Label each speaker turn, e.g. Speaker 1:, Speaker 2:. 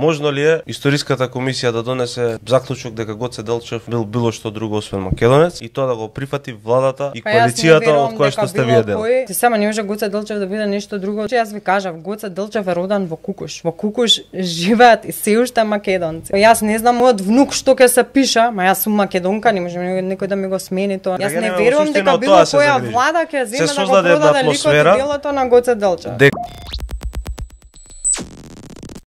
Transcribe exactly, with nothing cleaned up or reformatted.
Speaker 1: Можно ли е историската комисија да донесе заклучок дека Гоце Делчев бил било што друго освен македонец и тоа да го прифати владата и коалицијата од која што сте вие дел?
Speaker 2: Ти само не може Гоце Делчев да биде нешто друго. Јас ви кажав, Гоце Делчев е родан во Кукуш. Во Кукуш живеат и се уште македонци. Јас не знам мојот внук што ќе се пиша, ма јас сум македонка, не може некој да ми го смени тоа. Јас не верувам дека било која влада ќе земе да го продаде ликот и делото на Гоце Делчев.